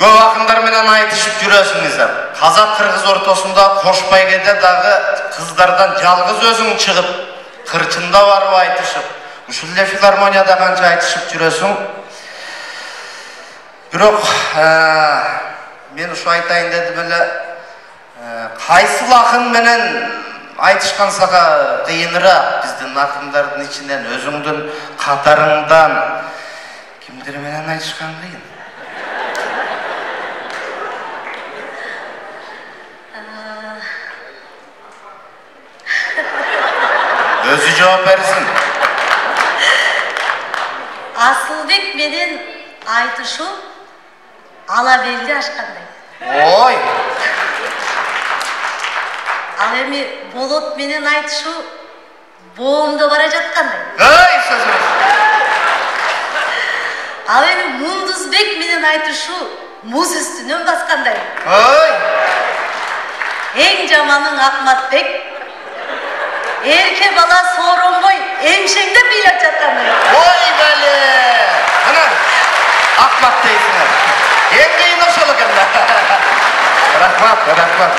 Көп акындар менен айтышып жүрөсүңүздөр. Казак-кыргыз ортосунда кошпай кете дагы кыздардан жалгыз өзүң чыгып, кырчында барып айтышып, ушул эле филармонияда канча айтышып жүрөсүң. Бирок мен ушу айтайын дедим эле, кайсыл акын менен айтышкан сага кыйыныраак? Биздин акындардын ичинен, өзүңдүн катарыңдан кимдер менен айтышкан кыйын? Өзү жооп берсин. Асылбек менен айтышуу ала белди ашкандай. Ой! Ал эми Болот менен айтышуу боомдо бара жаткандай. Ой, сөзүңүз. Ал эми Мундузбек менен айтышуу муз үстүнөн баскандай. Ой! Эң жаманың Акматбек, эрке бала сооронбой эмшеңдеп ыйлап жаткандай. Ой беле! Мына Акмат дейсиңер. Эң кыйын ошол экен. Рахмат.